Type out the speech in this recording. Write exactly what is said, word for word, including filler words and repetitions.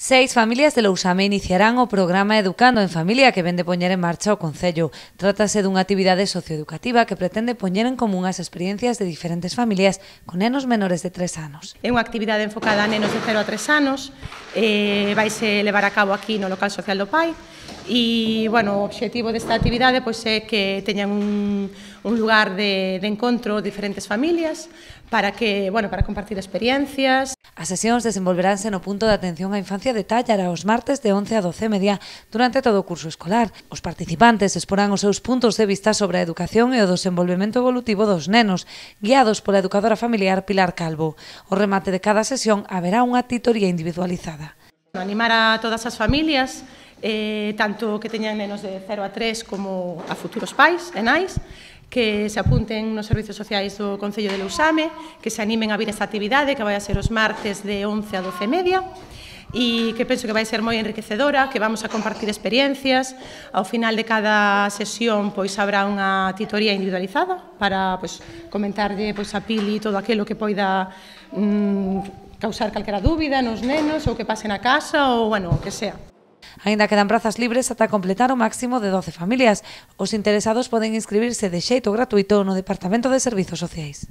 Seis familias de Lousame iniciarán o programa Educando en Familia que vén de poñer en marcha o Concello. Trátase dunha actividade socioeducativa que pretende poñer en común as experiencias de diferentes familias con nenos menores de tres anos. É unha actividade enfocada a nenos de cero a tres anos, eh, vaise levar a cabo aquí no local social do Pai e, bueno, o obxectivo desta actividade pois, é que teñan un, un lugar de, de encontro diferentes familias para que, bueno, para compartir experiencias. As sesións desenvolveránse no punto de atención á infancia de Tállara os martes de once a doce e media durante todo o curso escolar. Os participantes exporán os seus puntos de vista sobre a educación e o desenvolvemento evolutivo dos nenos, guiados pola educadora familiar Pilar Calvo. O remate de cada sesión haberá unha titoría individualizada. Animar a todas as familias, eh, tanto que teñan nenos de cero a tres como a futuros pais e nais, que se apunten nos servizos sociais do Concello de Lousame, que se animen a vir esta actividade, que vai a ser os martes de once a doce e media, e que penso que vai ser moi enriquecedora, que vamos a compartir experiencias. Ao final de cada sesión pois habrá unha titoría individualizada para pois, comentarlle pois, a Pili todo aquilo que poida mm, causar calquera dúbida nos nenos ou que pase na casa ou, bueno, o que sea. Aínda quedan prazas libres ata completar o máximo de doce familias. Os interesados poden inscribirse de xeito gratuito no Departamento de Servizos Sociais.